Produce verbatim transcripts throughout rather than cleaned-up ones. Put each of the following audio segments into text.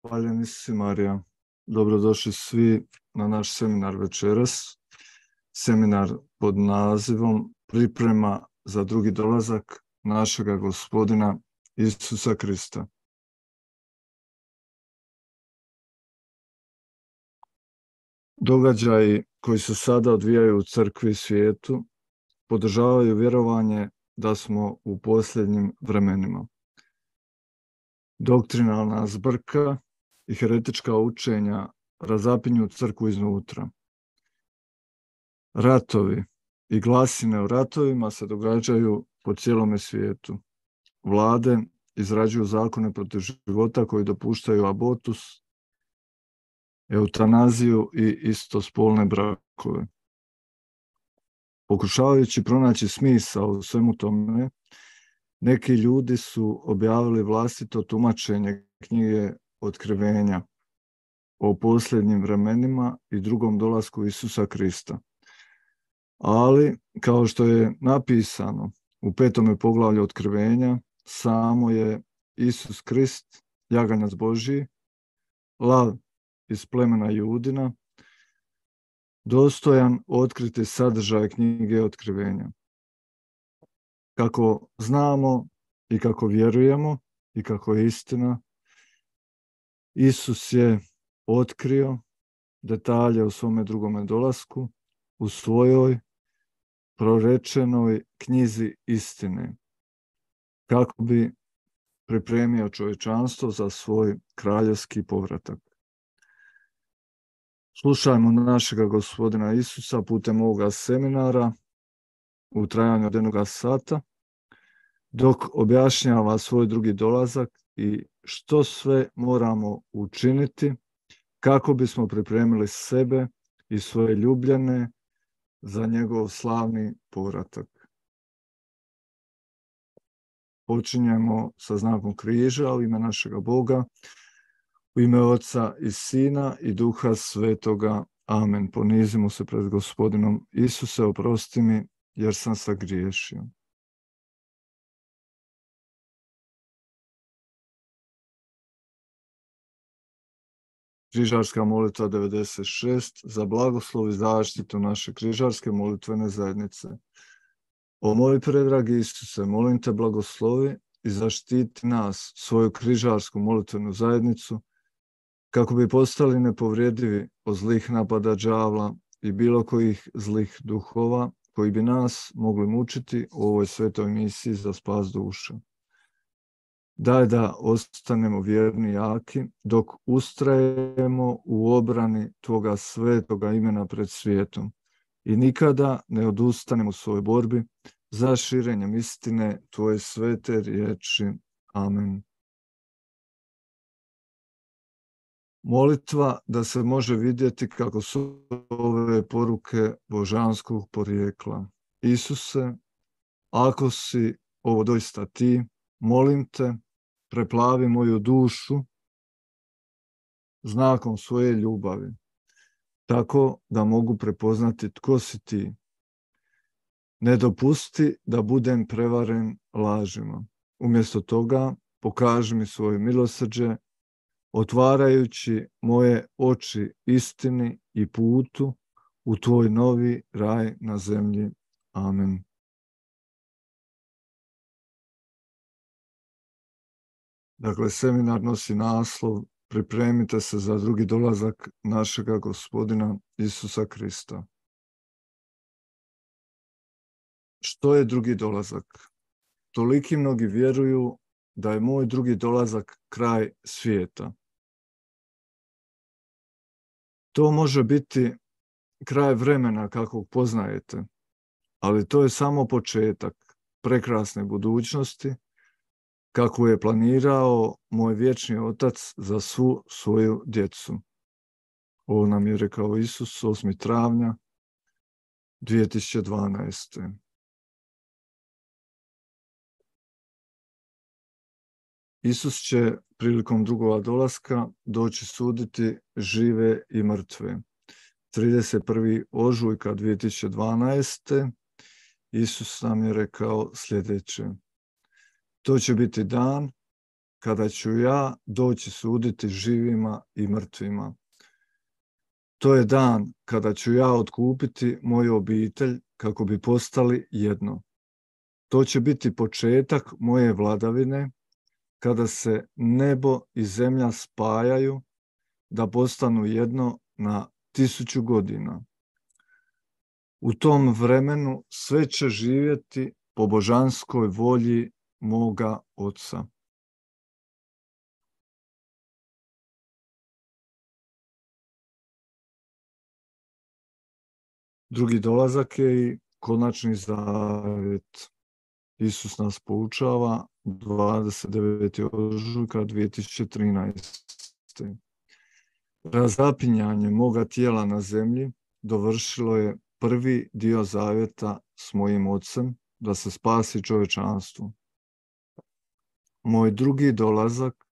Hvaljeni si Marija. Dobrodošli svi na naš seminar večeras. Seminar pod nazivom Priprema za drugi dolazak našega Gospodina Isusa Krista. Događaji koji se sada odvijaju u crkvi i svijetu podržavaju vjerovanje da smo u posljednjim vremenima. Doktrinalna zbrka i heretička učenja razapinju crkvu iznutra. Ratovi i glasine o ratovima se događaju po cijelome svijetu. Vlade izrađuju zakone protiv života koji dopuštaju abortus, eutanaziju i istospolne brakove. Pokušavajući pronaći smisao u svemu tome, neki ljudi su objavili vlastito tumačenje knjige Otkrivenja o posljednjim vremenima i drugom dolasku Isusa Krista. Ali, kao što je napisano u petome poglavlju Otkrivenja, samo je Isus Krist, jaganjac Božji, lav iz plemena Judina, dostojan otkriti sadržaj knjige Otkrivenja. Kako znamo i kako vjerujemo i kako je istina, Isus je otkrio detalje o svome drugome dolasku u svojoj prorečenoj knjizi istine, kako bi pripremio čovječanstvo za svoj kraljevski povratak. Slušajmo našega Gospodina Isusa putem ovoga seminara u trajanju od jednoga sata, dok objašnjava svoj drugi dolazak i što sve moramo učiniti kako bismo pripremili sebe i svoje ljubljene za njegov slavni povratak. Počinjemo sa znakom križa u ime našega Boga, u ime Oca i Sina i Duha Svetoga. Amen. Ponizimo se pred Gospodinom. Isuse, oprosti mi jer sam sagriješio. Križarska molitva devedeset šest za blagoslov i zaštitu naše križarske molitvene zajednice. O moj predragi Isuse, molim te blagoslovi i zaštiti nas, svoju križarsku molitvenu zajednicu, kako bi postali nepovrijedivi od zlih napada đavla i bilo kojih zlih duhova koji bi nas mogli mučiti u ovoj svetoj misiji za spas duše. Daj da ostanemo vjerni i jaki dok ustrajemo u obrani Tvoga svetoga imena pred svijetom i nikada ne odustanemo u svojoj borbi za širenjem istine Tvoje svete riječi. Amen. Molitva da se može vidjeti kako su ove poruke božanskog porijekla. Isuse, ako si ovo doista ti, molim te, preplavi moju dušu znakom svoje ljubavi, tako da mogu prepoznati tko si ti. Ne dopusti da budem prevaren lažima. Umjesto toga pokaži mi svoje milosrđe, otvarajući moje oči istini i putu u tvoj novi raj na zemlji. Amen. Dakle, seminar nosi naslov Pripremite se za drugi dolazak našega Gospodina Isusa Krista. Što je drugi dolazak? Toliki mnogi vjeruju da je moj drugi dolazak kraj svijeta. To može biti kraj vremena kakvog poznajete, ali to je samo početak prekrasne budućnosti kako je planirao moj vječni Otac za svu svoju djecu. Ovo nam je rekao Isus osmog travnja dvije tisuće dvanaeste. Isus će prilikom drugog dolaska doći suditi žive i mrtve. trideset prvog ožujka dvije tisuće dvanaeste. Isus nam je rekao sljedeće. To će biti dan kada ću ja doći suditi živima i mrtvima. To je dan kada ću ja otkupiti moju obitelj kako bi postali jedno. To će biti početak moje vladavine, kada se nebo i zemlja spajaju, da postanu jedno na tisuću godina. U tom vremenu sve će živjeti po božanskoj volji moga Oca. Drugi dolazak je i konačni zavjet. Isus nas poučava dvadeset devetog ožujka dvije tisuće trinaeste. Razapinjanje moga tijela na zemlji dovršilo je prvi dio zavjeta s mojim Ocem da se spasi čovječanstvo. Moj drugi dolazak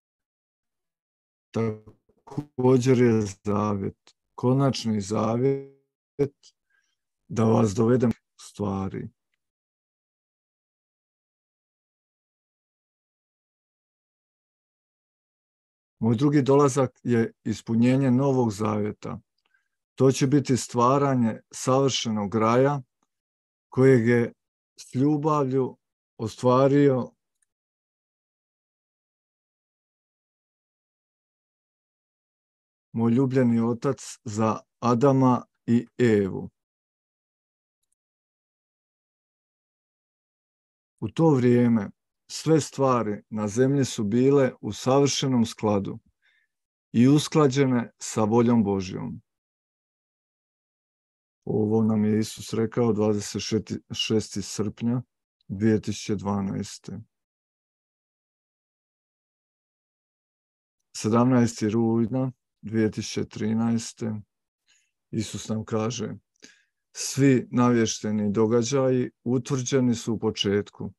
također je zavjet, konačni zavjet da vas dovedem stvari. Moj drugi dolazak je ispunjenje novog zavjeta. To će biti stvaranje savršenog raja kojeg je s ljubavlju ostvario moj ljubljeni Otac za Adama i Evu. U to vrijeme sve stvari na zemlji su bile u savršenom skladu i usklađene sa voljom Božjom. Ovo nam je Isus rekao dvadeset šestog srpnja dvije tisuće dvanaeste. sedamnaestog rujna dvije tisuće trinaeste. Isus nam kaže: svi navješteni događaji utvrđeni su u početku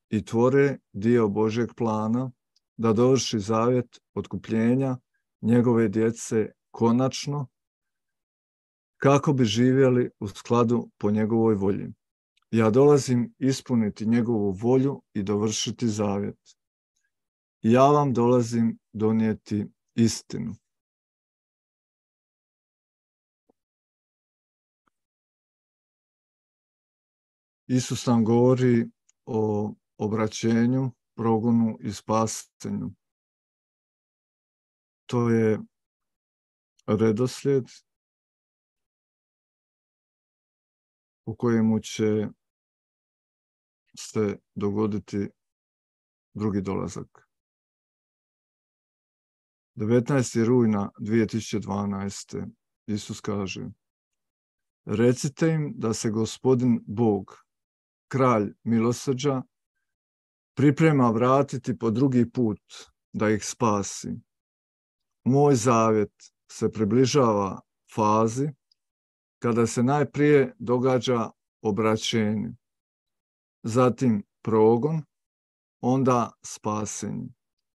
i tvore dio Božjeg plana da dovrši zavjet otkupljenja njegove djece konačno, kako bi živjeli u skladu po njegovoj volji. Ja dolazim ispuniti njegovu volju i dovršiti zavjet. Ja vam dolazim donijeti istinu. Isus nam govori o obraćenju, progonu i spasenju. To je redoslijed u kojemu će se dogoditi drugi dolazak. devetnaestog rujna dvije tisuće dvanaeste. Isus kaže: recite im da se Gospodin Bog, kralj milosrđa, priprema vratiti po drugi put da ih spasi. Moj zavjet se približava fazi kada se najprije događa obraćenje, zatim progon, onda spasenje,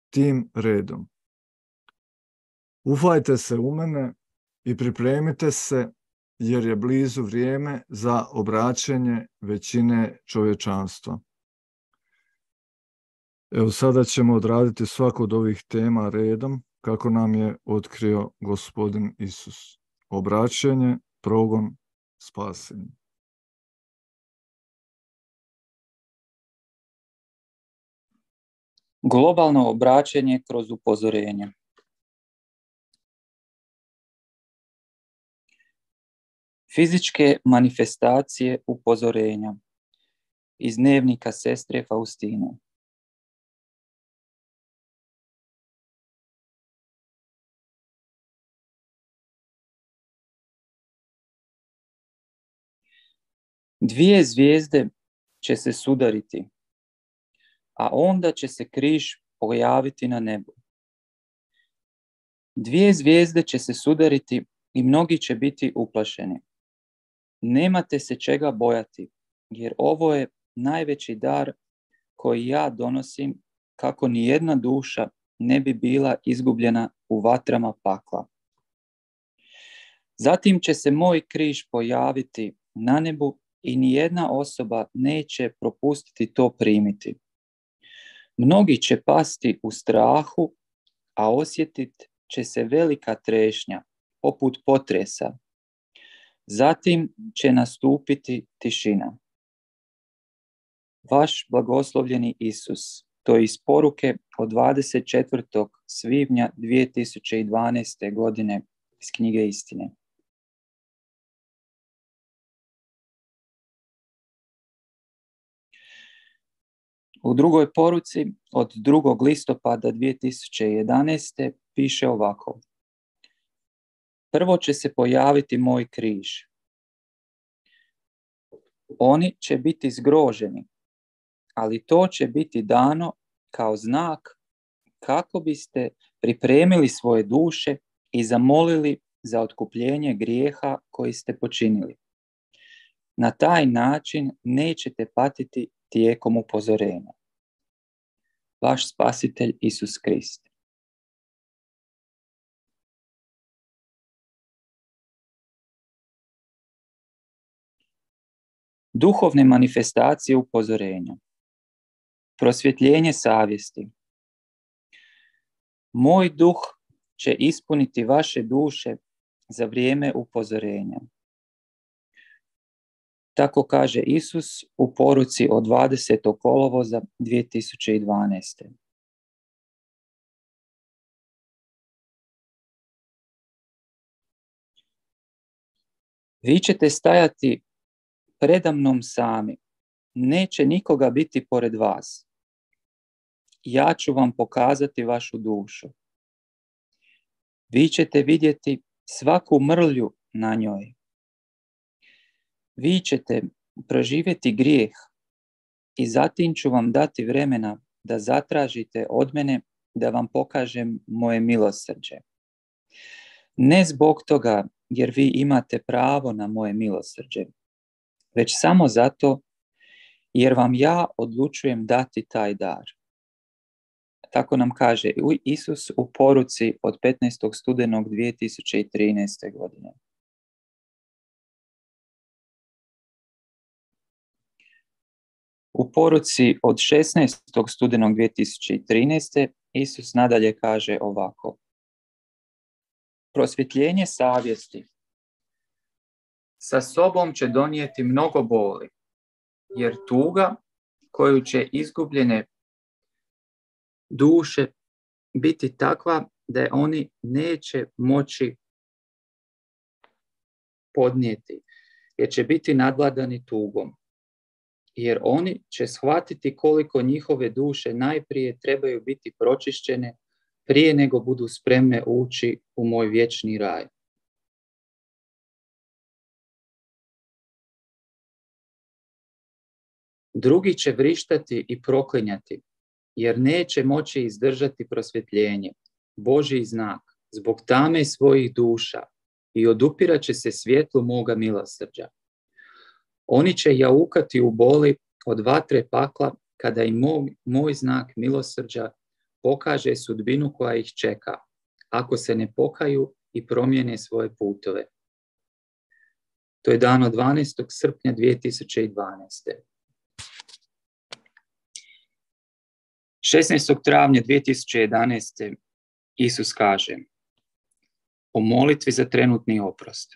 tim redom. Ufajte se u mene i pripremite se, jer je blizu vrijeme za obraćenje većine čovječanstva. Evo, sada ćemo odraditi svaku od ovih tema redom, kako nam je otkrio Gospodin Isus. Obraćenje, progon, spasenje. Globalno obraćenje kroz upozorenje. Fizičke manifestacije upozorenja iz dnevnika sestre Faustine. Dvije zvijezde će se sudariti, a onda će se križ pojaviti na nebu. Dvije zvijezde će se sudariti i mnogi će biti uplašeni. Nemate se čega bojati, jer ovo je najveći dar koji ja donosim, kako ni jedna duša ne bi bila izgubljena u vatrama pakla. Zatim će se moj križ pojaviti na nebu i ni jedna osoba neće propustiti to primiti. Mnogi će pasti u strahu, a osjetit će se velika trešnja, poput potresa. Zatim će nastupiti tišina. Vaš blagoslovljeni Isus. To je iz poruke od dvadeset četvrtog svibnja dvije tisuće dvanaeste. godine iz knjige Istine. U drugoj poruci od drugog listopada dvije tisuće jedanaeste. piše ovako. Prvo će se pojaviti moj križ. Oni će biti zgroženi, ali to će biti dano kao znak kako biste pripremili svoje duše i zamolili za otkupljenje grijeha koji ste počinili. Na taj način nećete patiti tijekom upozorenja. Vaš spasitelj Isus Krist. Duhovne manifestacije upozorenja. Prosvjetljenje savjesti. Moj duh će ispuniti vaše duše za vrijeme upozorenja. Tako kaže Isus u poruci od dvadesetog kolovoza dvije tisuće dvanaeste. Vi ćete stajati predamnom sami. Neće nikoga biti pored vas. Ja ću vam pokazati vašu dušu. Vi ćete vidjeti svaku mrlju na njoj. Vi ćete proživjeti grijeh i zatim ću vam dati vremena da zatražite od mene da vam pokažem moje milosrđe. Ne zbog toga jer vi imate pravo na moje milosrđe, već samo zato jer vam ja odlučujem dati taj dar. Tako nam kaže Isus u poruci od petnaestog studenog dvije tisuće trinaeste. godine. U poruci od šesnaestog studenog dvije tisuće trinaeste. Isus nadalje kaže ovako. Prosvjetljenje savjesti sa sobom će donijeti mnogo boli, jer tuga koju će izgubljene duše biti takva da je oni neće moći podnijeti, jer će biti nadvladani tugom. Jer oni će shvatiti koliko njihove duše najprije trebaju biti pročišćene prije nego budu spremne ući u moj vječni raj. Drugi će vrištati i proklinjati, jer neće moći izdržati prosvjetljenje, Božji znak, zbog tame svojih duša i odupirat će se svjetlu moga milosrđa. Oni će jaukati u boli od vatre pakla kada im moj, moj znak milosrđa pokaže sudbinu koja ih čeka, ako se ne pokaju i promijene svoje putove. To je dano dvanaestog srpnja dvije tisuće dvanaeste. šesnaestog travnja dvije tisuće jedanaeste. Isus kaže o molitvi za trenutni oprost.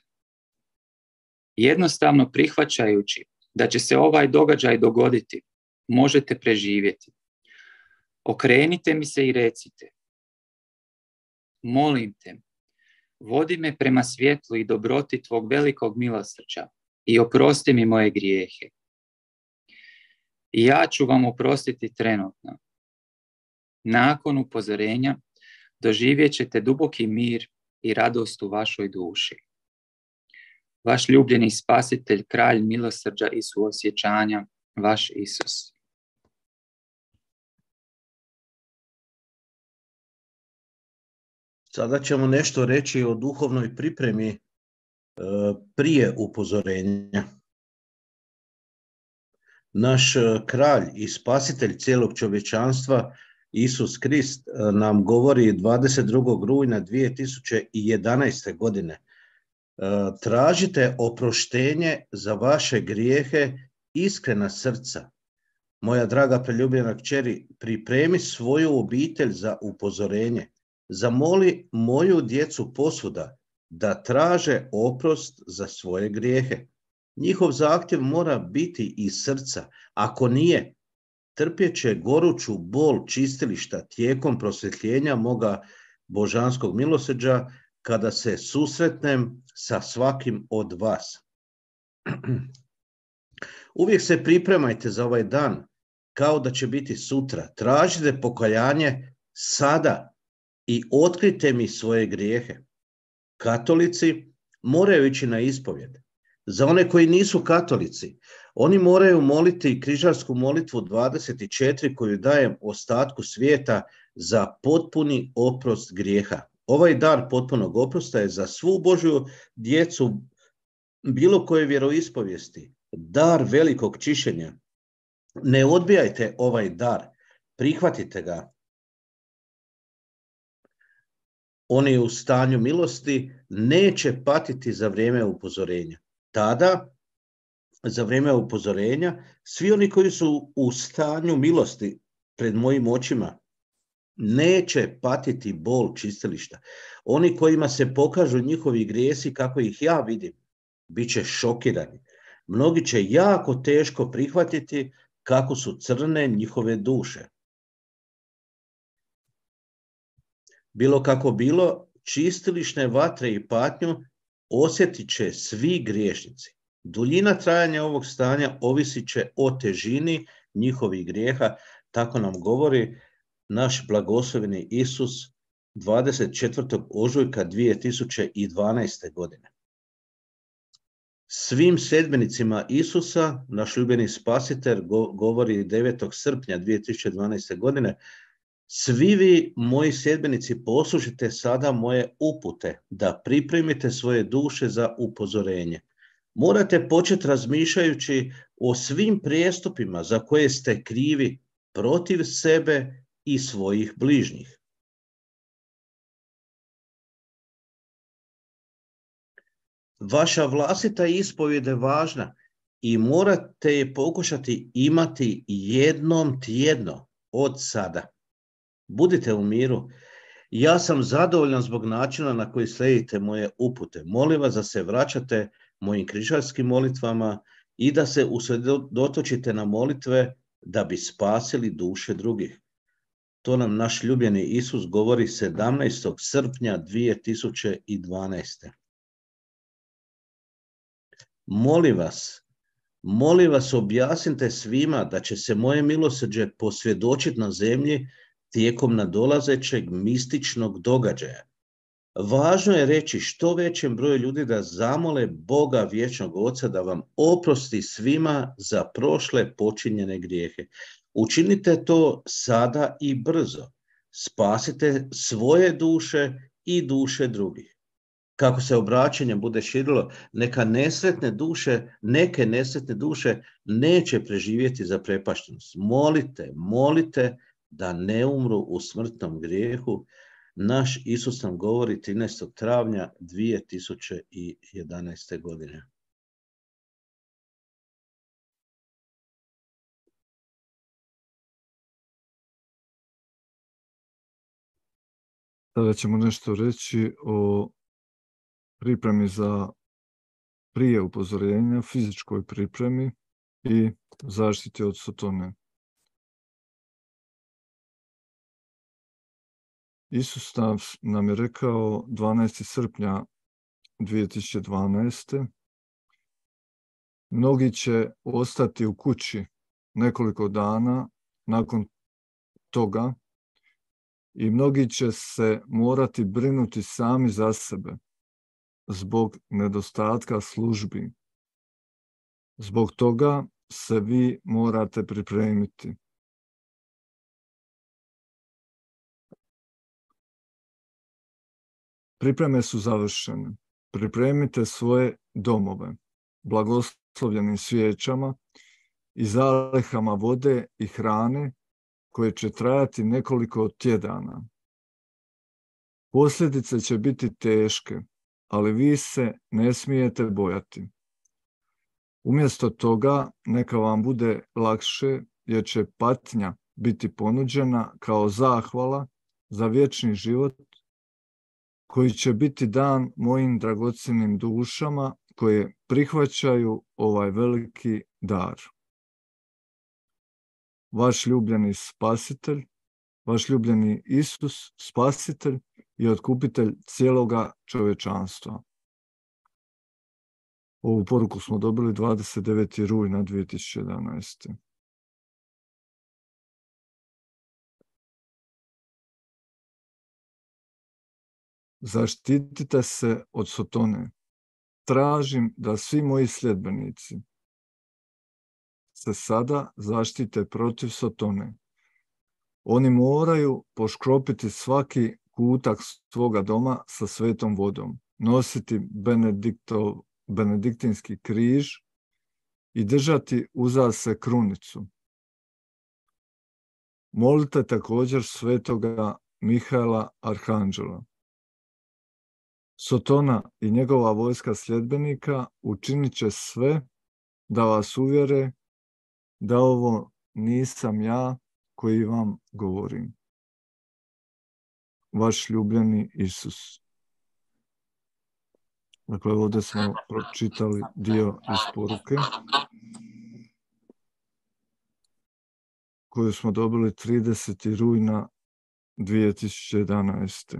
Jednostavno prihvaćajući da će se ovaj događaj dogoditi, možete preživjeti. Okrenite mi se i recite: molim te, vodi me prema svjetlu i dobroti tvog velikog milosrđa i oprosti mi moje grijehe. I ja ću vam oprostiti trenutno. Nakon upozorenja doživjet ćete duboki mir i radost u vašoj duši. Vaš ljubljeni spasitelj, kralj milosrđa i suosjećanja, vaš Isus. Sada ćemo nešto reći o duhovnoj pripremi e, prije upozorenja. Naš kralj i spasitelj cijelog čovječanstva, Isus Krist, nam govori dvadeset drugog rujna dvije tisuće jedanaeste. godine. Tražite oproštenje za vaše grijehe, iskrena srca. Moja draga preljubljena kćeri, pripremi svoju obitelj za upozorenje. Zamoli moju djecu posvuda da traže oprost za svoje grijehe. Njihov zahtjev mora biti iz srca. Ako nije, trpjet će goruću bol čistilišta tijekom prosvjetljenja moga božanskog milosrđa kada se susretnem sa svakim od vas. Uvijek se pripremajte za ovaj dan kao da će biti sutra. Tražite pokajanje sada i otkrite mi svoje grijehe. Katolici moraju ići na ispovjed. Za one koji nisu katolici, oni moraju moliti križarsku molitvu dvadeset četiri koju dajem ostatku svijeta za potpuni oprost grijeha. Ovaj dar potpunog oprosta je za svu Božju djecu bilo koje vjeroispovijesti, dar velikog čišćenja. Ne odbijajte ovaj dar, prihvatite ga. Oni u stanju milosti neće patiti za vrijeme upozorenja. Tada, za vrijeme upozorenja, svi oni koji su u stanju milosti pred mojim očima neće patiti bol čistilišta. Oni kojima se pokažu njihovi grijesi kako ih ja vidim, bit će šokirani. Mnogi će jako teško prihvatiti kako su crne njihove duše. Bilo kako bilo, čistilišne vatre i patnju osjetit će svi griješnici. Duljina trajanja ovog stanja ovisit će o težini njihovih grijeha, tako nam govori naš blagosloveni Isus dvadeset četvrtog ožujka dvije tisuće dvanaeste. godine. Svim sedbenicima Isusa, naš ljubljeni spasitelj govori devetog srpnja dvije tisuće dvanaeste. godine, svi vi, moji sedbenici, poslušajte sada moje upute da pripremite svoje duše za upozorenje. Morate početi razmišljajući o svim prijestupima za koje ste krivi protiv sebe i svojih bližnjih. Vaša vlastita ispovjed je važna i morate je pokušati imati jednom tjedno od sada. Budite u miru. Ja sam zadovoljan zbog načina na koji slijedite moje upute. Molim vas da se vraćate mojim križarskim molitvama i da se usredotočite na molitve da bi spasili duše drugih. To nam naš ljubljeni Isus govori sedamnaestog srpnja dvije tisuće dvanaeste. Molim vas, molim vas objasnite svima da će se moje milosrđe posvjedočiti na zemlji tijekom nadolazećeg mističnog događaja. Važno je reći što većem broju ljudi da zamole Boga vječnog Oca da vam oprosti svima za prošle počinjene grijehe. Učinite to sada i brzo. Spasite svoje duše i duše drugih. Kako se obraćanje bude širilo, neka nesretne duše, neke nesretne duše neće preživjeti za prepaštenost. Molite, molite da ne umru u smrtnom grijehu. Naš Isus nam govori trinaestog travnja dvije tisuće jedanaeste. godine. Sada ćemo nešto reći o pripremi za prije upozorenja, fizičkoj pripremi i zaštiti od sotone. Isus nam je rekao dvanaestog srpnja dvije tisuće dvanaeste. Mnogi će ostati u kući nekoliko dana nakon toga i mnogi će se morati brinuti sami za sebe zbog nedostatka službi. Zbog toga se vi morate pripremiti. Pripreme su završene. Pripremite svoje domove blagoslovljenim svijećama i zalihama vode i hrane koje će trajati nekoliko tjedana. Posljedice će biti teške, ali vi se ne smijete bojati. Umjesto toga neka vam bude lakše jer će patnja biti ponuđena kao zahvala za vječni život koji će biti dan mojim dragocjenim dušama koje prihvaćaju ovaj veliki dar. Vaš ljubljeni spasitelj, vaš ljubljeni Isus, spasitelj i otkupitelj cijeloga čovječanstva. Ovu poruku smo dobili dvadeset devetog rujna dvije tisuće jedanaeste. Zaštitite se od Sotone. Tražim da svi moji sljedbenici se sada zaštite protiv Sotone. Oni moraju poškropiti svaki kutak svoga doma sa svetom vodom, nositi Benediktov, benediktinski križ i držati uza se krunicu. Molite također svetoga Mihaela Arhanđela. Sotona i njegova vojska sljedbenika učinit će sve da vas uvjere da ovo nisam ja koji vam govorim. Vaš ljubljeni Isus. Dakle, ovdje smo pročitali dio iz poruke koju smo dobili tridesetog rujna dvije tisuće jedanaeste.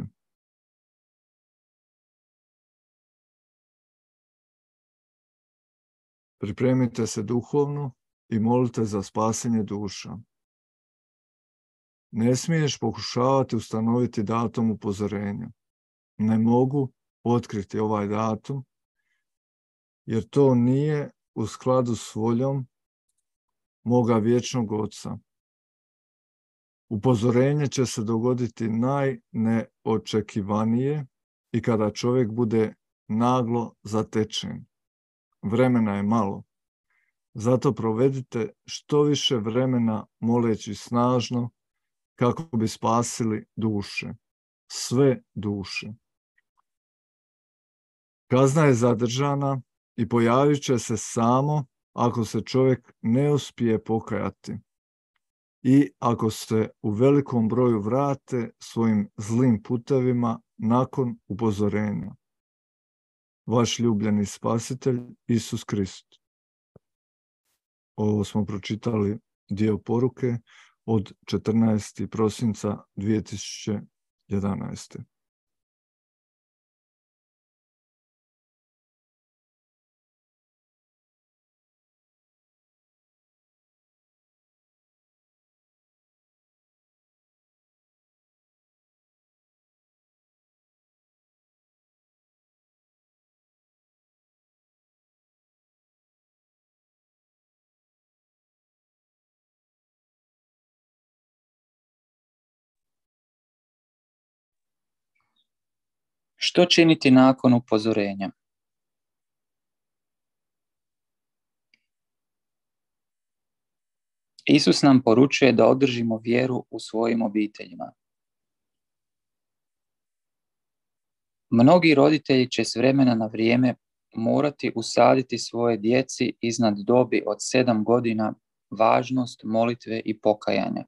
Pripremite se duhovno i molite za spasenje duša. Ne smiješ pokušavati ustanoviti datum upozorenja. Ne mogu otkriti ovaj datum, jer to nije u skladu s voljom moga vječnog Oca. Upozorenje će se dogoditi najneočekivanije i kada čovjek bude naglo zatečen. Vremena je malo. Zato provedite što više vremena moleći snažno kako bi spasili duše. Sve duše. Kazna je zadržana i pojavit će se samo ako se čovjek ne uspije pokajati i ako se u velikom broju vrate svojim zlim putevima nakon upozorenja. Vaš ljubljeni spasitelj Isus Krist. Ovo smo pročitali dio poruke od četrnaestog prosinca dvije tisuće jedanaeste. Što činiti nakon upozorenja? Isus nam poručuje da održimo vjeru u svojim obiteljima. Mnogi roditelji će s vremena na vrijeme morati usaditi svoje djeci iznad dobi od sedam godina važnost molitve i pokajanja.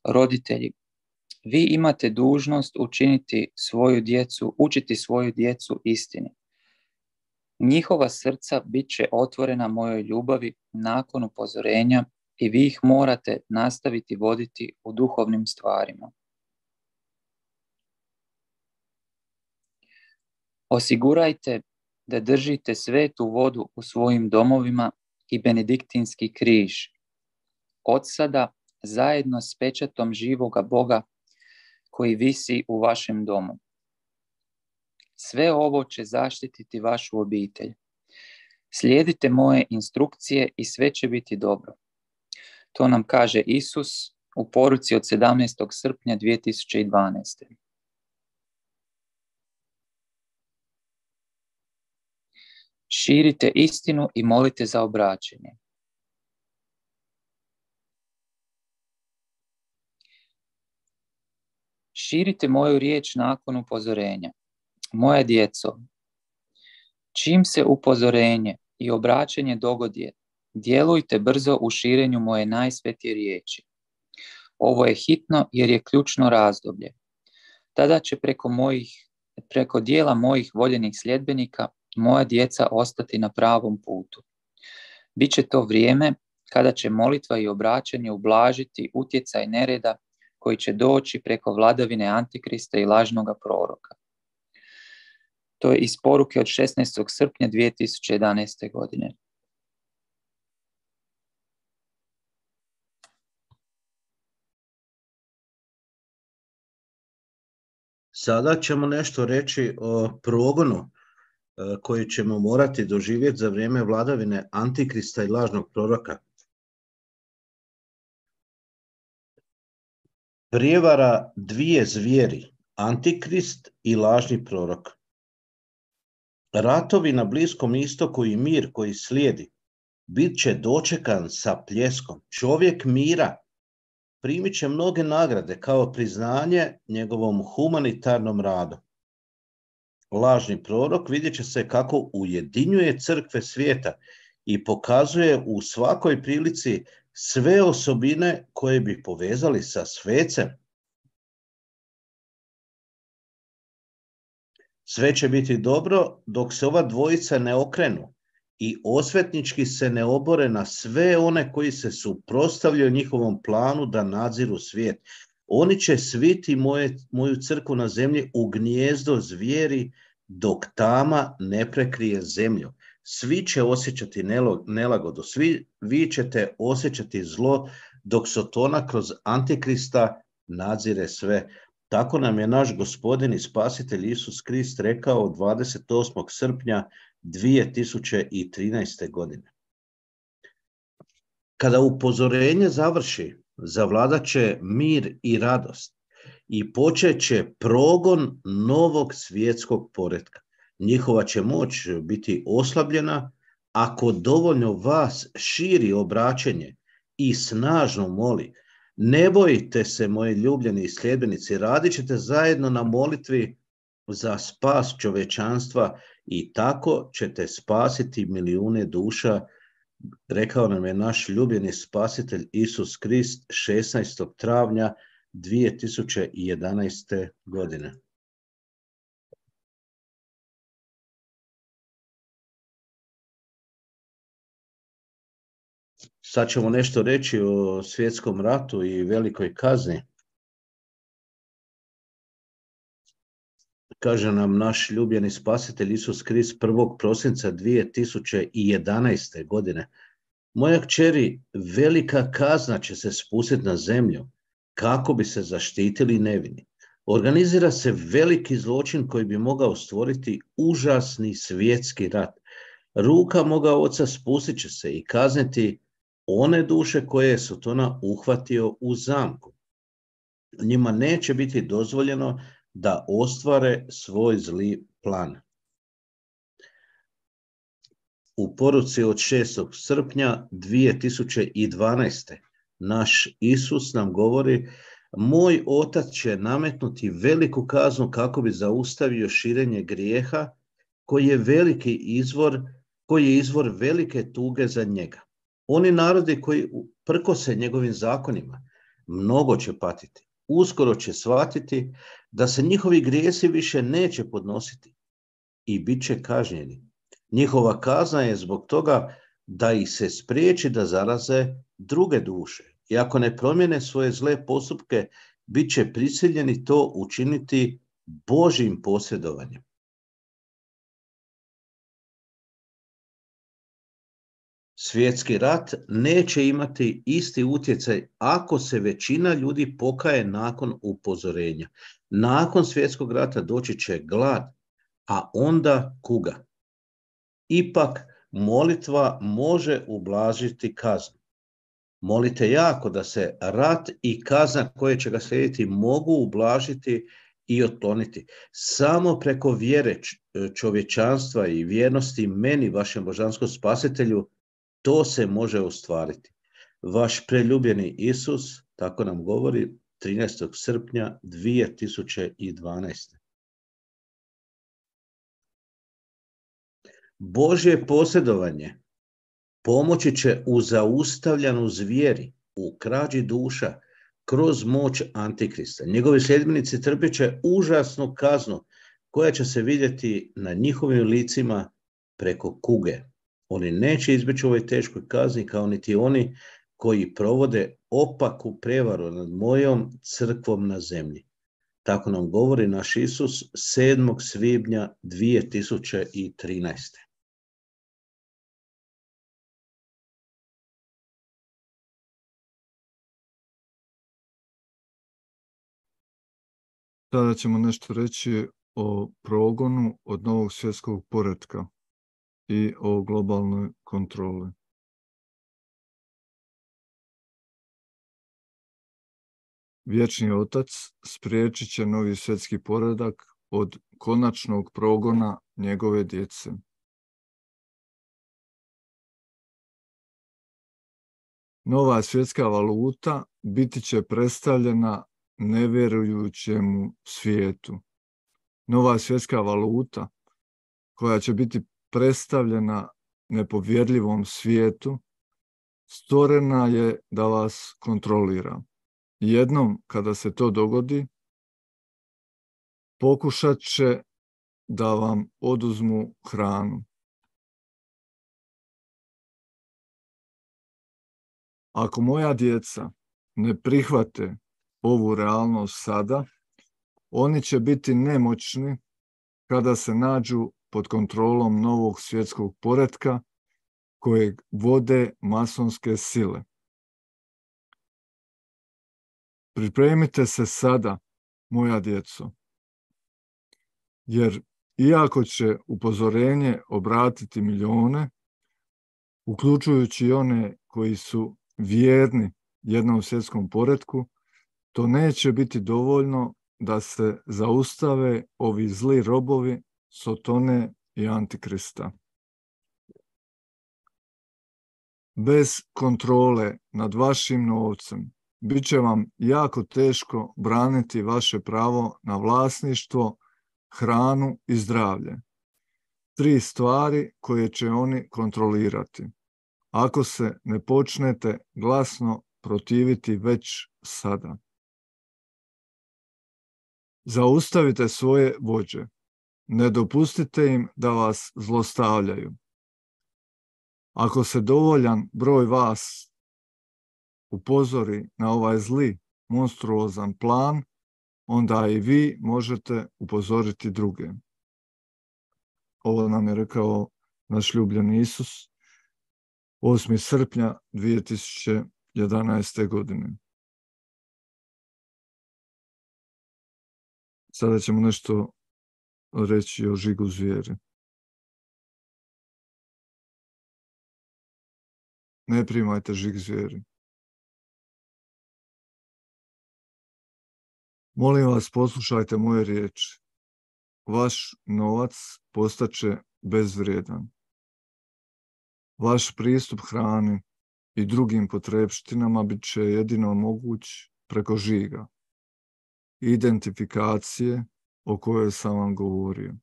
Roditelji, vi imate dužnost učiniti svoju djecu, učiti svoju djecu istini. Njihova srca bit će otvorena mojoj ljubavi nakon upozorenja i vi ih morate nastaviti voditi u duhovnim stvarima. Osigurajte da držite svetu vodu u svojim domovima i benediktinski križ. Od sada zajedno s pečatom živoga Boga koji visi u vašem domu. Sve ovo će zaštititi vašu obitelj. Slijedite moje instrukcije i sve će biti dobro. To nam kaže Isus u poruci od sedamnaestog srpnja dvije tisuće dvanaeste. Širite istinu i molite za obraćenje. Širite moju riječ nakon upozorenja. Moja djeco, čim se upozorenje i obraćanje dogodi, Djelujte brzo u širenju moje najsvetije riječi. Ovo je hitno jer je ključno razdoblje. Tada će preko, mojih, preko dijela mojih voljenih sljedbenika moja djeca ostati na pravom putu. Biće to vrijeme kada će molitva i obraćanje ublažiti utjecaj nereda koji će doći preko vladavine Antikrista i lažnoga proroka. To je iz poruke od šesnaestog srpnja dvije tisuće jedanaeste. godine. Sada ćemo nešto reći o progonu koji ćemo morati doživjeti za vrijeme vladavine Antikrista i lažnog proroka. Prijevara dvije zvijeri, Antikrist i lažni prorok. Ratovi na Bliskom istoku i mir koji slijedi bit će dočekan sa pljeskom. Čovjek mira primit će mnoge nagrade kao priznanje njegovom humanitarnom radu. Lažni prorok vidjet će se kako ujedinjuje crkve svijeta i pokazuje u svakoj prilici sve osobine koje bi povezali sa svecem. Sve će biti dobro dok se ova dvojica ne okrenu i osvetnički se ne obore na sve one koji se suprotstavljaju njihovom planu da nadziru svijet. Oni će sviti moje, moju crkvu na zemlji u gnijezdo zvijeri dok tama ne prekrije zemlju. Svi će osjećati nelagodu, svi vi ćete osjećati zlo dok Sotona kroz Antikrista nadzire sve. Tako nam je naš Gospodin i Spasitelj Isus Krist rekao dvadeset osmog srpnja dvije tisuće trinaeste. godine. Kada upozorenje završi, zavladat će mir i radost i počet će progon novog svjetskog poretka. Njihova će moć biti oslabljena ako dovoljno vas širi obraćenje i snažno moli. Ne bojite se, moji ljubljeni sljedbenici, radit ćete zajedno na molitvi za spas čovečanstva i tako ćete spasiti milijune duša, rekao nam je naš ljubljeni Spasitelj Isus Krist šesnaestog travnja dvije tisuće jedanaeste. godine. Sad ćemo nešto reći o svjetskom ratu i velikoj kazni. Kaže nam naš ljubljeni Spasitelj Isus Krist prvog prosinca dvije tisuće jedanaeste. godine. Moja kćeri, velika kazna će se spustiti na zemlju kako bi se zaštitili nevini. Organizira se veliki zločin koji bi mogao stvoriti užasni svjetski rat. Ruka moga oca spustit će se i kazniti one duše koje je Sotona uhvatio u zamku. Njima neće biti dozvoljeno da ostvare svoj zli plan. U poruci od šestog srpnja dvije tisuće dvanaeste. naš Isus nam govori: moj otac će nametnuti veliku kaznu kako bi zaustavio širenje grijeha koji je veliki izvor, koji je izvor velike tuge za njega. Oni narodi koji prkose njegovim zakonima mnogo će patiti. Uskoro će shvatiti da se njihovi grijesi više neće podnositi i bit će kažnjeni. Njihova kazna je zbog toga da ih se spriječi da zaraze druge duše. I ako ne promijene svoje zle postupke, bit će prisiljeni to učiniti Božjim posredovanjem. Svjetski rat neće imati isti utjecaj ako se većina ljudi pokaje nakon upozorenja. Nakon svjetskog rata doći će glad, a onda kuga. Ipak molitva može ublažiti kaznu. Molite jako da se rat i kazna koje će ga slijediti mogu ublažiti i otkloniti. Samo preko vjere čovječanstva i vjernosti meni, vašem božanskom spasitelju, to se može ostvariti. Vaš preljubljeni Isus, tako nam govori, trinaestog srpnja dvije tisuće dvanaeste. Božje posredovanje Pomoći će u zaustavljanju zvijeri, u krađi duša, kroz moć Antikrista. Njegovi sljedbenici trpjet će užasnu kaznu koja će se vidjeti na njihovim licima preko kuge. Oni neće izbjeći u ovoj teškoj kazni kao niti oni koji provode opaku prevaru nad mojom crkvom na zemlji. Tako nam govori naš Isus sedmog svibnja dvije tisuće trinaeste. Sada ćemo nešto reći o progonu od novog svjetskog poretka i o globalnoj kontroli. Vječni Otac spriječit će novi svjetski poredak od konačnog progona njegove djece. Nova svjetska valuta biti će predstavljena nevjerujućemu svijetu. Nova svjetska valuta koja će biti predstavljena nepovjerljivom svijetu stvorena je da vas kontrolira. Jednom kada se to dogodi, pokušat će da vam oduzmu hranu. Ako moja djeca ne prihvate ovu realnost sada, oni će biti nemoćni kada se nađu pod kontrolom novog svjetskog poretka kojeg vode masonske sile. Pripremite se sada, moja djeco, jer iako će upozorenje obratiti milijone, uključujući i one koji su vjerni jednom svjetskom poretku, to neće biti dovoljno da se zaustave ovi zli robovi Sotone i Antikrista. Bez kontrole nad vašim novcem bit će vam jako teško braniti vaše pravo na vlasništvo, hranu i zdravlje. Tri stvari koje će oni kontrolirati, ako se ne počnete glasno protiviti već sada. Zaustavite svoje vođe. Ne dopustite im da vas zlostavljaju. Ako se dovoljan broj vas upozori na ovaj zli, monstruozan plan, onda i vi možete upozoriti druge. Ovo nam je rekao naš ljubljeni Isus osmog srpnja dvije tisuće jedanaeste. godine. Sada ćemo nešto reći o žigu zvijeri. Ne primajte žig zvijeri. Molim vas, poslušajte moje riječi. Vaš novac postaće bezvrijedan. Vaš pristup hrani i drugim potrebštinama bit će jedino moguć preko žiga, identifikacije o kojoj sam vam govorio.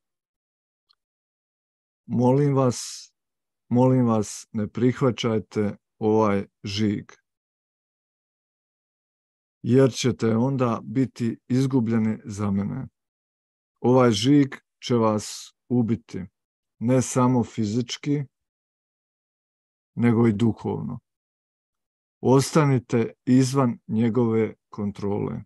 Molim vas, molim vas, ne prihvaćajte ovaj žig, jer ćete onda biti izgubljeni za mene. Ovaj žig će vas ubiti, ne samo fizički, nego i duhovno. Ostanite izvan njegove kontrole.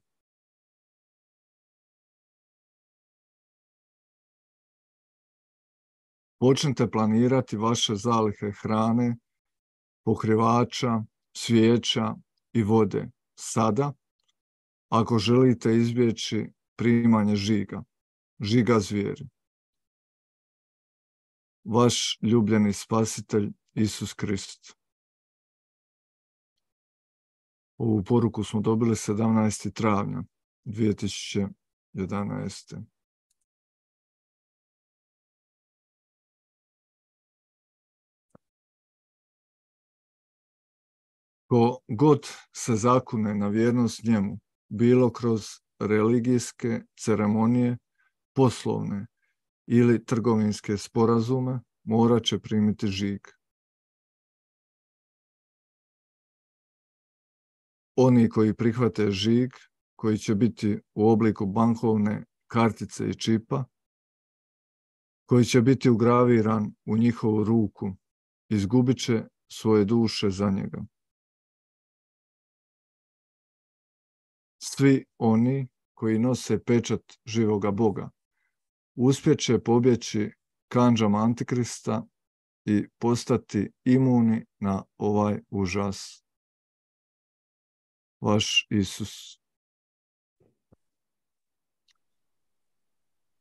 Počnite planirati vaše zalihe hrane, pokrivača, svijeća i vode sada, ako želite izbjeći primanje žiga, žiga zvijeri. Vaš ljubljeni spasitelj Isus Krist. Ovu poruku smo dobili sedamnaestog travnja dvije tisuće jedanaeste. Ko god se zakune na vjernost njemu, bilo kroz religijske ceremonije, poslovne ili trgovinske sporazume, morat će primiti žig. oni koji prihvate žig, koji će biti u obliku bankovne kartice i čipa, koji će biti ugraviran u njihovu ruku, izgubit će svoje duše za njega. Svi oni koji nose pečat živoga Boga uspjet će pobjeći kandžama Antikrista i postati imuni na ovaj užas. Vaš Isus.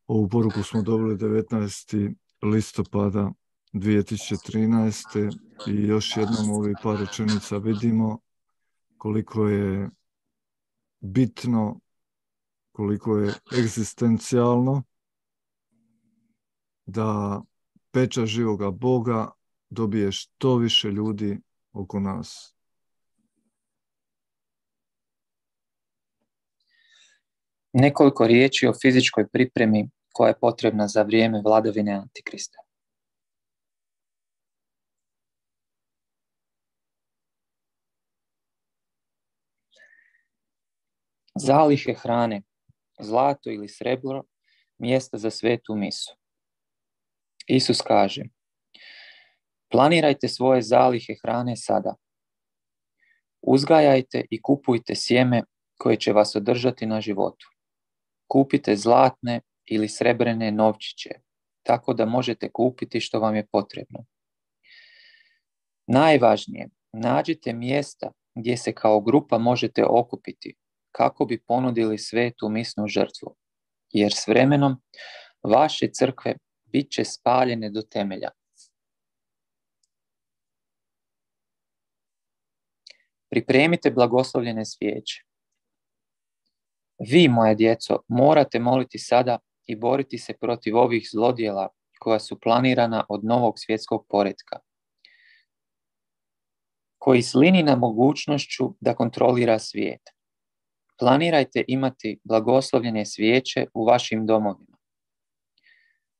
Ovu poruku smo dobili devetnaestog listopada dvije tisuće trinaeste. i još jednom u ovih par rečenica vidimo koliko je bitno, koliko je egzistencijalno da pečat živoga Boga dobije što više ljudi oko nas. Nekoliko riječi o fizičkoj pripremi koja je potrebna za vrijeme vladavine Antikrista. Zalihe hrane, zlato ili srebro, mjesta za svetu misu. Isus kaže: planirajte svoje zalihe hrane sada. Uzgajajte i kupujte sjeme koje će vas održati na životu. Kupite zlatne ili srebrene novčiće, tako da možete kupiti što vam je potrebno. Najvažnije, nađite mjesta gdje se kao grupa možete okupiti kako bi ponudili svetu misnu žrtvu, jer s vremenom vaše crkve bit će spaljene do temelja. Pripremite blagoslovljene svijeće. Vi, moja djeco, morate moliti sada i boriti se protiv ovih zlodjela koja su planirana od novog svjetskog poretka, koji slini na mogućnošću da kontrolira svijet. Planirajte imati blagoslovljene svijeće u vašim domovima.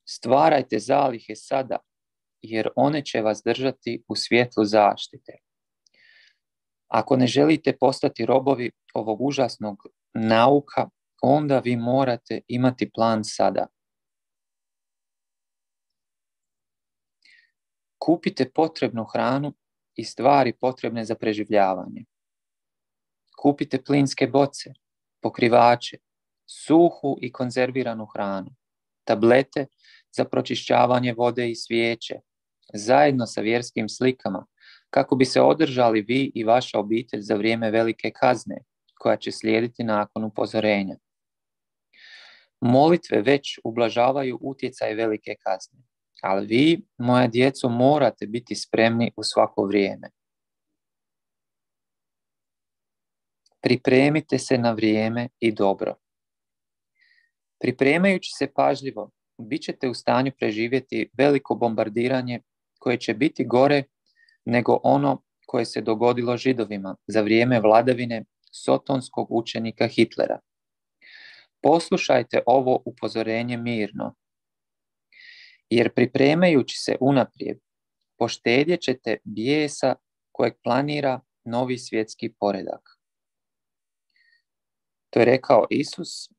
Stvarajte zalihe sada, jer one će vas držati u svjetlu zaštite. Ako ne želite postati robovi ovog užasnog nauka, onda vi morate imati plan sada. Kupite potrebnu hranu i stvari potrebne za preživljavanje. Kupite plinske boce, pokrivače, suhu i konzerviranu hranu, tablete za pročišćavanje vode i svijeće, zajedno sa vjerskim slikama, kako bi se održali vi i vaša obitelj za vrijeme velike kazne, koja će slijediti nakon upozorenja. Molitve već ublažavaju utjecaj velike kazne, ali vi, moja djeco, morate biti spremni u svako vrijeme. Pripremite se na vrijeme i dobro. Pripremajući se pažljivo, bit ćete u stanju preživjeti veliko bombardiranje koje će biti gore nego ono koje se dogodilo Židovima za vrijeme vladavine sotonskog učenika Hitlera. Poslušajte ovo upozorenje mirno, jer pripremajući se unaprijed, poštedjet ćete bijesa kojeg planira novi svjetski poredak. To je rekao Isus,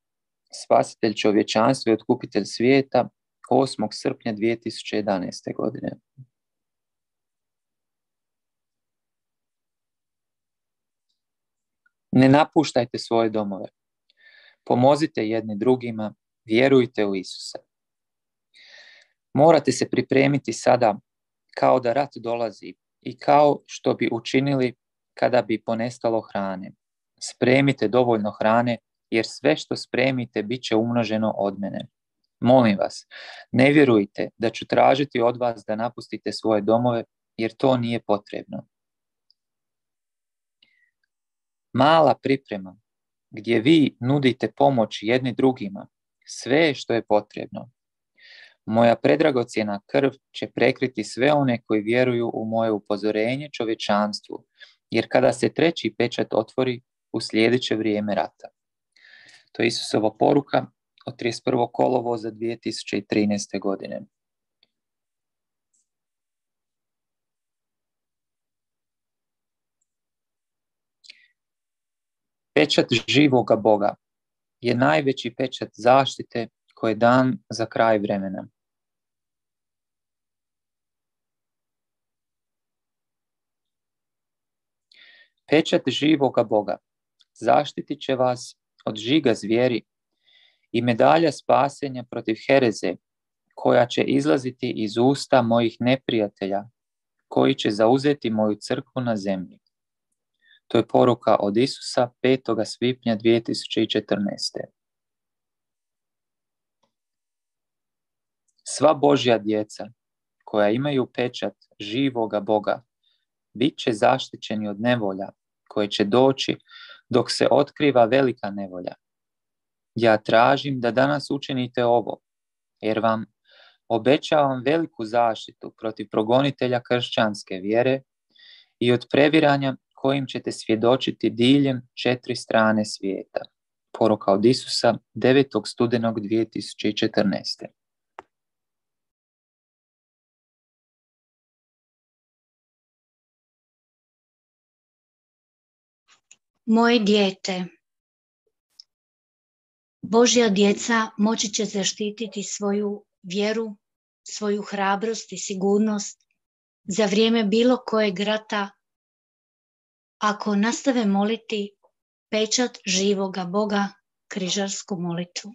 spasitelj čovječanstva i otkupitelj svijeta, osmog srpnja dvije tisuće jedanaeste. godine. Ne napuštajte svoje domove. Pomozite jedni drugima, vjerujte u Isusa. Morate se pripremiti sada kao da rat dolazi i kao što bi učinili kada bi ponestalo hrane. Spremite dovoljno hrane, jer sve što spremite bit će umnoženo od mene. Molim vas, ne vjerujte da ću tražiti od vas da napustite svoje domove, jer to nije potrebno. Mala priprema, gdje vi nudite pomoć jedni drugima, sve što je potrebno. Moja predragocjena krv će prekriti sve one koji vjeruju u moje upozorenje čovječanstvu, jer kada se treći pečat otvori, uslijedit će vrijeme rata. To je Isusova poruka od trideset prvog kolovoza dvije tisuće trinaeste. godine. Pečat živoga Boga je najveći pečat zaštite koji je dan za kraj vremena. Pečat živoga Boga zaštitit će vas od žiga zvijeri i medalja spasenja protiv hereze, koja će izlaziti iz usta mojih neprijatelja, koji će zauzeti moju crkvu na zemlji. To je poruka od Isusa petog svibnja dvije tisuće četrnaeste. Sva Božja djeca koja imaju pečat živoga Boga bit će zaštićeni od nevolja koje će doći dok se otkriva velika nevolja. Ja tražim da danas učinite ovo, jer vam obećavam veliku zaštitu protiv progonitelja kršćanske vjere i od previranja kojim ćete svjedočiti diljem četiri strane svijeta. Poruka od Isusa devetog studenog dvije tisuće četrnaeste. Moje dijete, Božja djeca moći će zaštititi svoju vjeru, svoju hrabrost i sigurnost za vrijeme bilo kojeg rata ako nastave moliti pečat živoga Boga, križarsku molitvu.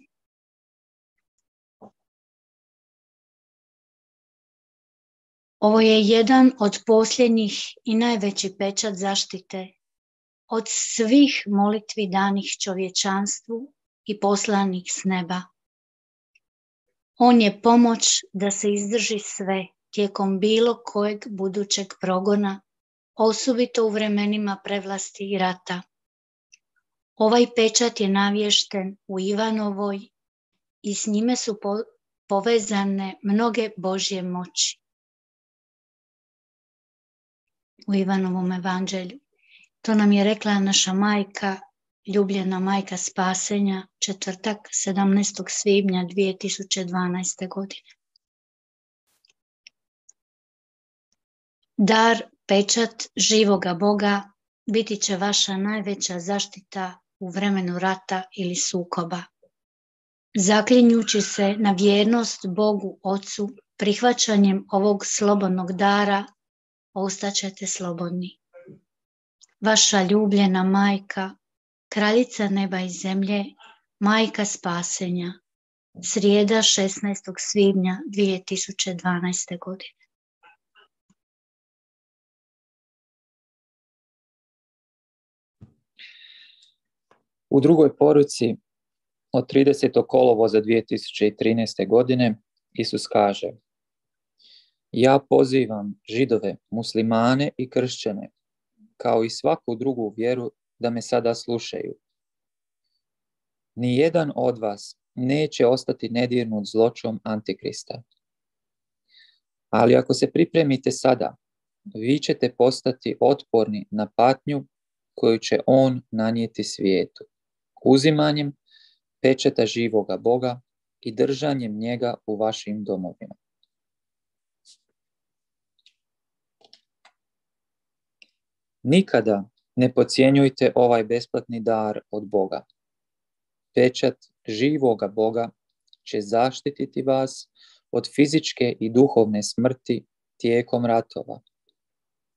Ovo je jedan od posljednjih i najveći pečat zaštite od svih molitvi danih čovječanstvu i poslanih s neba. On je pomoć da se izdrži sve tijekom bilo kojeg budućeg progona, osobito u vremenima prevlasti i rata. Ovaj pečat je navješten u Ivanovoj i s njime su po, povezane mnoge Božje moći. U Ivanovom evanđelju. To nam je rekla naša majka, ljubljena majka spasenja, četvrtak sedamnaestog svibnja dvije tisuće dvanaeste. godine. Dar, pečat živoga Boga biti će vaša najveća zaštita u vremenu rata ili sukoba. Zaklinjući se na vjernost Bogu Ocu, prihvaćanjem ovog slobodnog dara, ostaćete slobodni. Vaša ljubljena majka, kraljica neba i zemlje, majka spasenja, srijeda šesnaestog svibnja dvije tisuće dvanaeste. godine. U drugoj poruci od tridesetog kolovoza dvije tisuće trinaeste. godine Isus kaže: Ja pozivam Židove, muslimane i kršćane, kao i svaku drugu vjeru, da me sada slušaju. Nijedan od vas neće ostati nedirnut zločom Antikrista. Ali ako se pripremite sada, vi ćete postati otporni na patnju koju će on nanijeti svijetu, uzimanjem pečata živoga Boga i držanjem njega u vašim domovima. Nikada ne podcjenjujte ovaj besplatni dar od Boga. Pečat živoga Boga će zaštititi vas od fizičke i duhovne smrti tijekom ratova.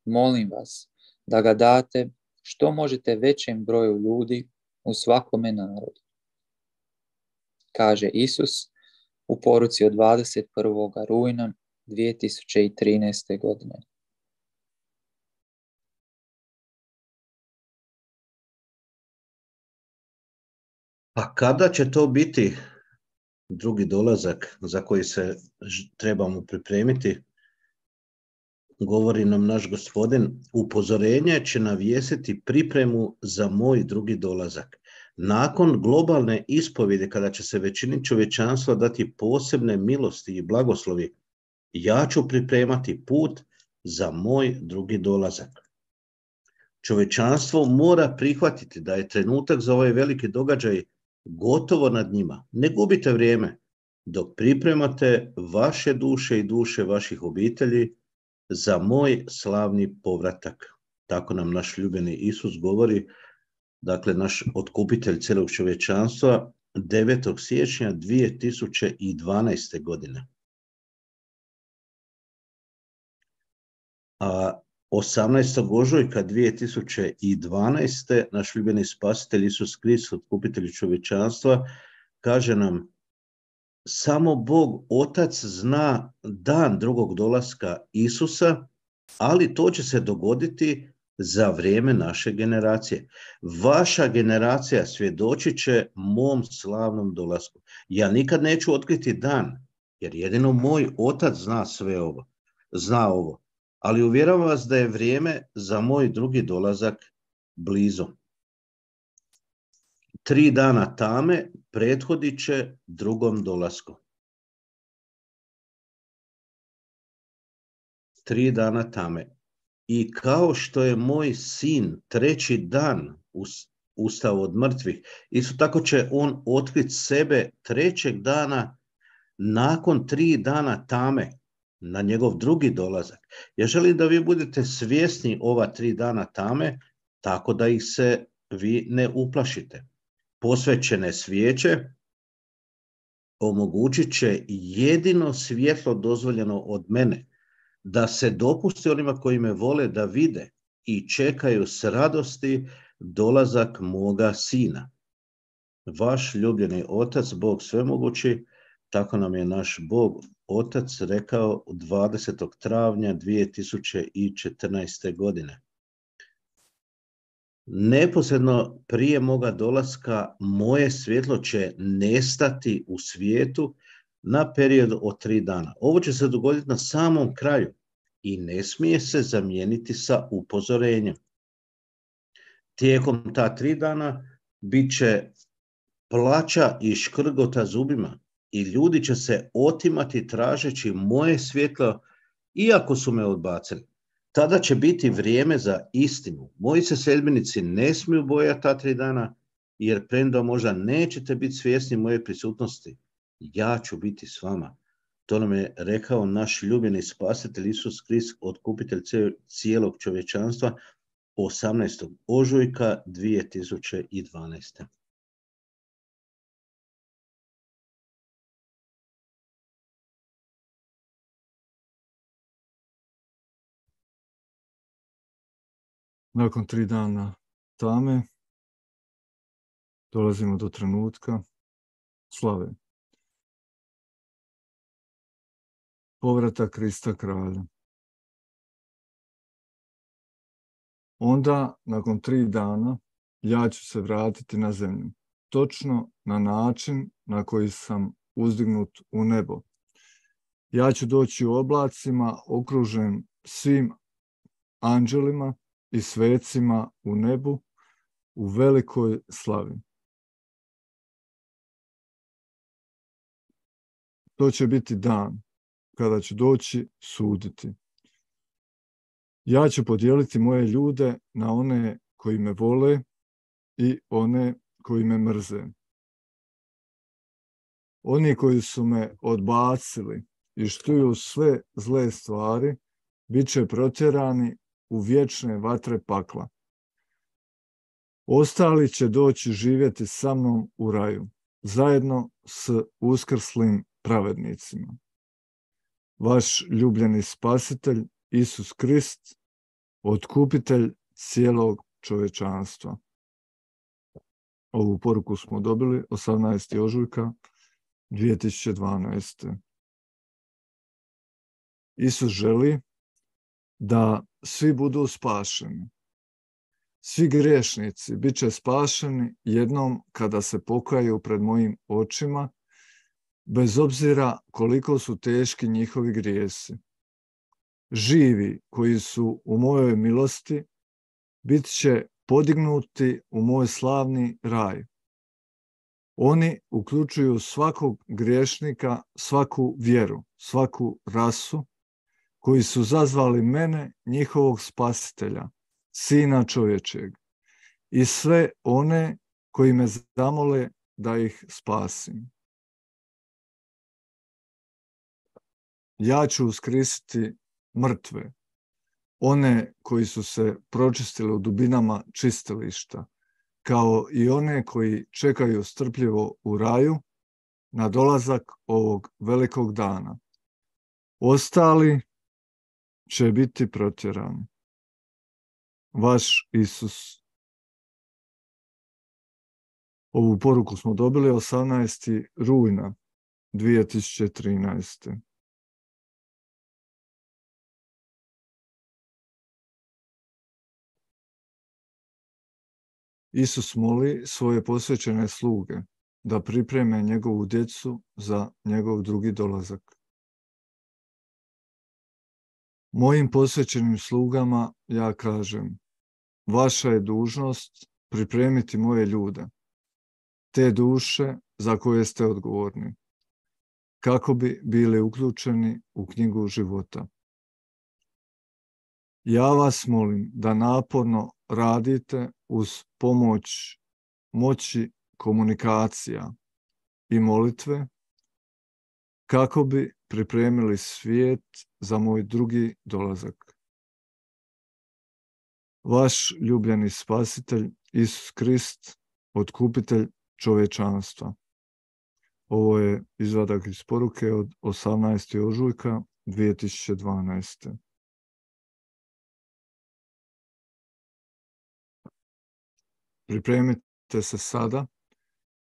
Molim vas da ga date što možete većem broju ljudi u svakome narodu. Kaže Isus u poruci od dvadeset prvog rujna dvije tisuće trinaeste. godine. Pa kada će to biti drugi dolazak za koji se trebamo pripremiti? Govori nam naš Gospodin, upozorenje će navjesiti pripremu za moj drugi dolazak. Nakon globalne ispovjede, kada će se većini čovječanstva dati posebne milosti i blagoslovi, ja ću pripremati put za moj drugi dolazak. Čovječanstvo mora prihvatiti da je trenutak za ovaj veliki događaj gotovo nad njima. Ne gubite vrijeme dok pripremate vaše duše i duše vaših obitelji za moj slavni povratak. Tako nam naš ljubljeni Isus govori dakle naš otkupitelj cijelog čovječanstva, devetog siječnja dvije tisuće dvanaeste. godine. A osamnaestog ožujka dvije tisuće dvanaeste. naš ljubljeni spasitelj Isus Krist, otkupitelj čovječanstva, kaže nam: samo Bog Otac zna dan drugog dolaska Isusa, ali to će se dogoditi za vrijeme naše generacije. Vaša generacija svjedočit će mom slavnom dolasku. Ja nikad neću otkriti dan, jer jedino moj Otac zna sve ovo, zna ovo. Ali uvjeravam vas da je vrijeme za moj drugi dolazak blizu. Tri dana tame prethodit će drugom dolasku. Tri dana tame. I kao što je moj sin treći dan ustao od mrtvih, isto tako će on otkriti sebe trećeg dana nakon tri dana tame, na njegov drugi dolazak. Ja želim da vi budete svjesni ova tri dana tame, tako da ih se vi ne uplašite. Posvećene svijeće omogućit će jedino svjetlo dozvoljeno od mene, da se dopusti onima koji me vole da vide i čekaju s radosti dolazak moga sina. Vaš ljubljeni Otac, Bog svemogući, tako nam je naš Bog Otac rekao dvadesetog travnja dvije tisuće četrnaeste. godine. Neposredno prije moga dolaska moje svjetlo će nestati u svijetu na period od tri dana. Ovo će se dogoditi na samom kraju i ne smije se zamijeniti sa upozorenjem. Tijekom ta tri dana bit će plača i škrgota zubima i ljudi će se otimati tražeći moje svjetlo, iako su me odbacili. Tada će biti vrijeme za istinu. Moji se sljedbenici ne smiju bojati ta tri dana, jer premda možda nećete biti svjesni moje prisutnosti, ja ću biti s vama. To nam je rekao naš ljubljeni spasitelj Isus Krist, otkupitelj cijelog čovječanstva, osamnaestog ožujka dvije tisuće dvanaeste. Nakon tri dana tame dolazimo do trenutka slave. Povrata Krista kralja. Onda, nakon tri dana, ja ću se vratiti na zemlju. Točno na način na koji sam uzdignut u nebo. Ja ću doći u oblacima, okružen svim anđelima i svecima u nebu u velikoj slavi. To će biti dan kada ću doći suditi. Ja ću podijeliti moje ljude na one koji me vole i one koji me mrze. Oni koji su me odbacili i štuju sve zle stvari, bit će protjerani u vječne vatre pakla. Ostali će doći živjeti sa mnom u raju, zajedno s uskrslim pravednicima. Vaš ljubljeni spasitelj, Isus Krist, otkupitelj cijelog čovječanstva. Ovu poruku smo dobili osamnaestog ožujka dvije tisuće dvanaeste. Isus želi da svi budu spašeni. Svi griješnici bit će spašeni jednom kada se pokaju pred mojim očima, bez obzira koliko su teški njihovi grijesi. Živi koji su u mojoj milosti bit će podignuti u moj slavni raj. Oni uključuju svakog griješnika, svaku vjeru, svaku rasu, koji su zazvali mene, njihovog spasitelja, sina čovječeg, i sve one koji me zamole da ih spasim. Ja ću uskrsiti mrtve, one koji su se pročistili u dubinama čistilišta, kao i one koji čekaju strpljivo u raju na dolazak ovog velikog dana. Ostali će biti protjerani. Vaš Isus. Ovu poruku smo dobili osamnaestog rujna dvije tisuće trinaeste. Isus moli svoje posvećene sluge da pripreme njegovu djecu za njegov drugi dolazak. Mojim posvećenim slugama ja kažem, vaša je dužnost pripremiti moje ljude, te duše za koje ste odgovorni, kako bi bili uključeni u knjigu života. Ja vas molim da naporno radite uz pomoć moći komunikacija i molitve, kako bi pripremili svijet za moj drugi dolazak. Vaš ljubljeni spasitelj Isus Krist, otkupitelj čovječanstva. Ovo je izvadak iz poruke od osamnaestog ožujka dvije tisuće dvanaeste. Pripremite se sada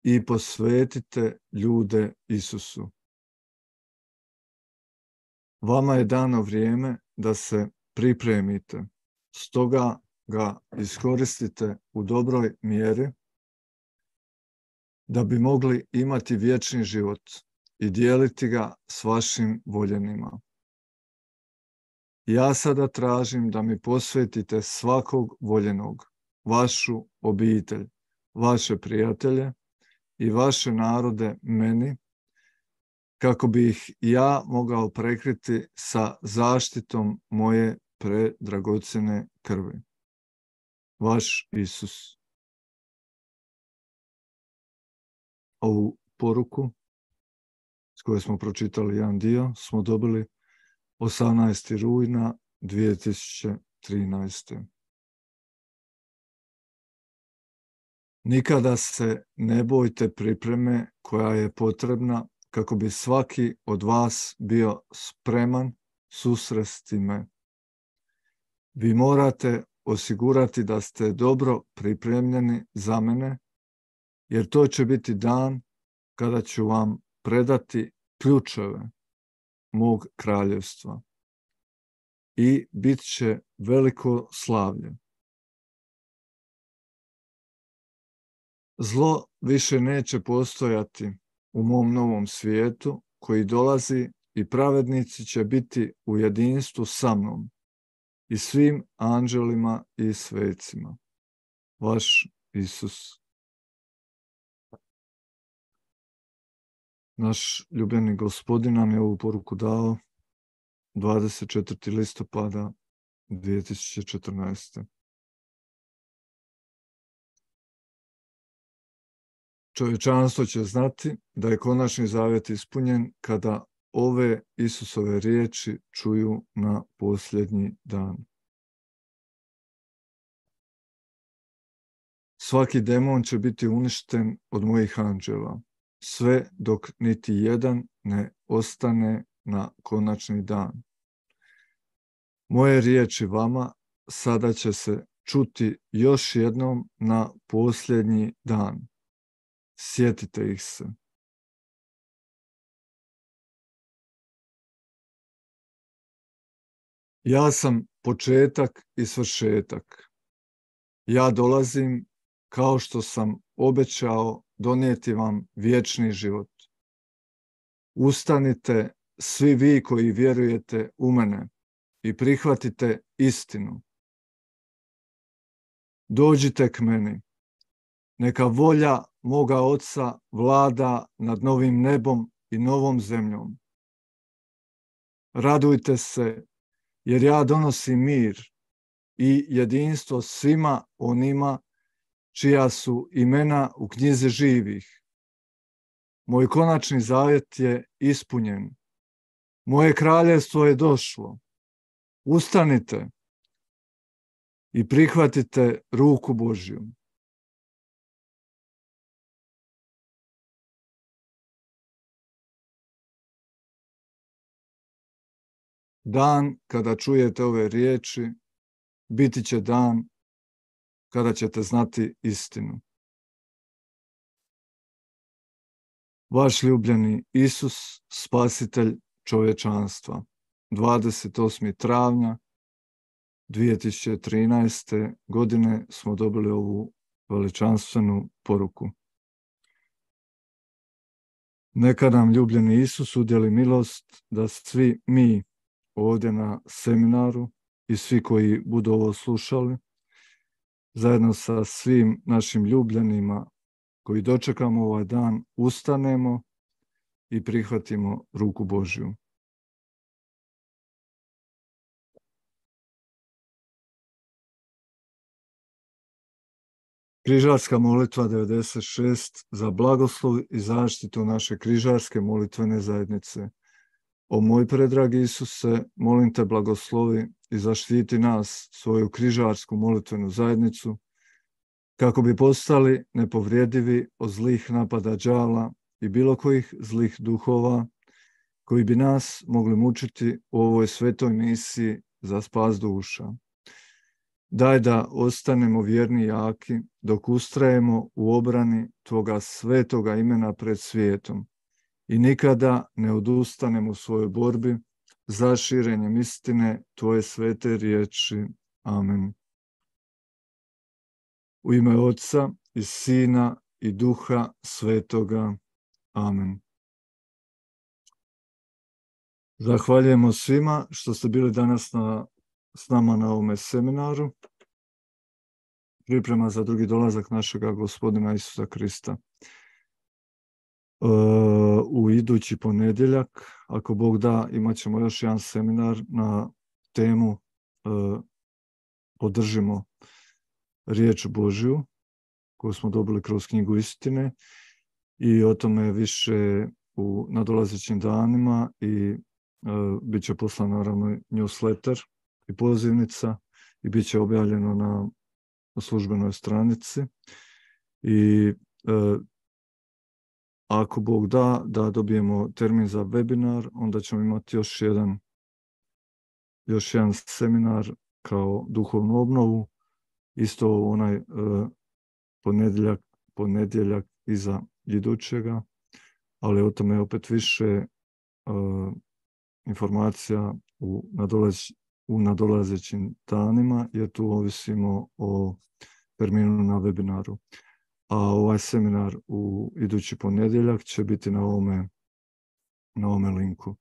i posvetite ljude Isusu. Vama je dano vrijeme da se pripremite, stoga ga iskoristite u dobroj mjeri da bi mogli imati vječni život i dijeliti ga s vašim voljenima. Ja sada tražim da mi posvetite svakog voljenog, vašu obitelj, vaše prijatelje i vaše narode meni, kako bi ih ja mogao prekriti sa zaštitom moje predragocjene krvi. Vaš Isus. Ovu poruku s kojoj smo pročitali jedan dio smo dobili osamnaestog rujna dvije tisuće trinaeste. Nikada se ne bojte pripreme koja je potrebna kako bi svaki od vas bio spreman susresti me. Vi morate osigurati da ste dobro pripremljeni za mene, jer to će biti dan kada ću vam predati ključeve mog kraljevstva i bit će veliko slavlje. Zlo više neće postojati u mom novom svijetu koji dolazi i pravednici će biti u jedinstvu sa mnom i svim anđelima i svecima. Vaš Isus. Naš ljubljeni Gospodin nam je ovu poruku dao dvadeset četvrtog listopada dvije tisuće četrnaeste. Čovječanstvo će znati da je konačni zavjet ispunjen kada ove Isusove riječi čuju na posljednji dan. Svaki demon će biti uništen od mojih anđela, sve dok niti jedan ne ostane na konačni dan. Moje riječi vama sada će se čuti još jednom na posljednji dan. Sjetite ih se. Ja sam početak i svršetak. Ja dolazim kao što sam obećao donijeti vam vječni život. Ustanite svi vi koji vjerujete u mene i prihvatite istinu. Dođite k meni. Neka volja moga Oca vlada nad novim nebom i novom zemljom. Radujte se, jer ja donosim mir i jedinstvo svima onima čija su imena u knjizi živih. Moj konačni zavjet je ispunjen. Moje kraljevstvo je došlo. Ustanite i prihvatite ruku Božju. Dan kada čujete ove riječi, biti će dan kada ćete znati istinu. Vaš ljubljeni Isus, spasitelj čovječanstva. dvadeset osmog travnja dvije tisuće trinaeste. godine smo dobili ovu veličanstvenu poruku. Neka nam ljubljeni Isus udjeli milost da svi mi ovdje na seminaru i svi koji budu ovo slušali, zajedno sa svim našim ljubljenima koji dočekamo ovaj dan, ustanemo i prihvatimo ruku Božju. Križarska molitva devedeset šest za blagoslov i zaštitu naše križarske molitvene zajednice. O moj predragi Isuse, molim te blagoslovi i zaštiti nas, svoju križarsku molitvenu zajednicu, kako bi postali nepovrijedivi od zlih napada đavla i bilo kojih zlih duhova, koji bi nas mogli mučiti u ovoj svetoj misiji za spas duša. Daj da ostanemo vjerni i jaki dok ustrajemo u obrani Tvoga svetoga imena pred svijetom i nikada ne odustanemo u svojoj borbi za širenjem istine Tvoje svete riječi. Amen. U ime Otca i Sina i Duha Svetoga. Amen. Zahvaljujemo svima što ste bili danas na, s nama na ovome seminaru. Priprema za drugi dolazak našega Gospodina Isusa Krista. Uh, u idući ponedjeljak, ako Bog da, imat ćemo još jedan seminar na temu uh, Podržimo riječ Božju, koju smo dobili kroz knjigu istine, i o tome više u nadolazećim danima i uh, bit će poslan naravno newsletter i pozivnica i bit će objavljeno na službenoj stranici. I uh, ako Bog da, da dobijemo termin za webinar, onda ćemo imati još jedan, još jedan seminar kao duhovnu obnovu, isto onaj uh, ponedjeljak, ponedjeljak iza idućega, ali o tome opet više uh, informacija u, nadolaz, u nadolazećim danima, jer tu ovisimo o terminu na webinaru. A ovaj seminar u idući ponedjeljak će biti na ovome, na ovome linku.